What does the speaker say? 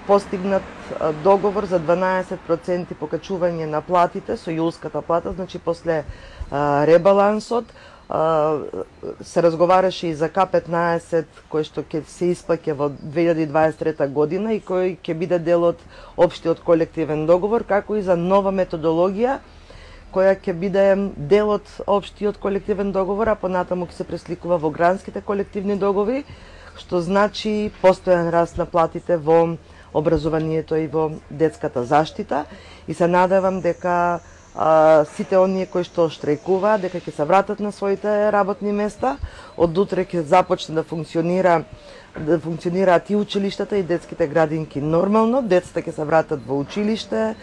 постигнат договор за 12% покачување на платите со јулската плата, значи после ребалансот се разговараше и за К15 кој што ќе се исплаќа во 2023 година и кој ќе биде дел од општиот колективен договор, како и за нова методологија која ќе биде дел од општиот колективен договор, а понатаму ќе се пресликува во гранските колективни договори, што значи постојан раст на платите во образованието и во детската заштита. И се надевам дека сите оние кои што штрајкуваат, дека ќе се вратат на своите работни места. Од утре ќе започне да функционираат и училиштата и детските градинки нормално, децата ќе се вратат во училиште,